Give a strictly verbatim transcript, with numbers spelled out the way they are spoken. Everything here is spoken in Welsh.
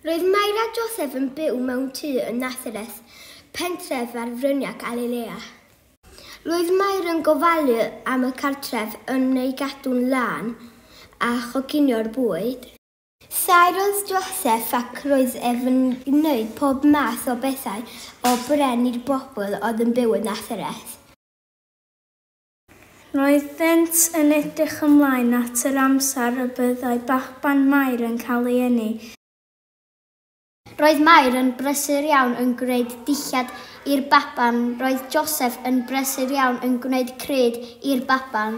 Roedd Mair a Joseph yn byw mewn tŷ yn Nazareth, pentref ar fryniau Galilea. Roedd Mair yn gofalu am y cartref yn ei gadw'n lân a choginio'r bwyd. Saer oedd Joseph ac roedd ef yn gwneud pob math o bethau o bren i'r bobl oedd yn byw yn Nazareth. Roeddent yn edrych ymlaen at yr amser y byddai baban Mair yn cael ei eni. Roedd Mair yn brysur iawn yn gwneud dillad i'r baban. Roedd Joseph yn brysur iawn yn gwneud crud i'r baban.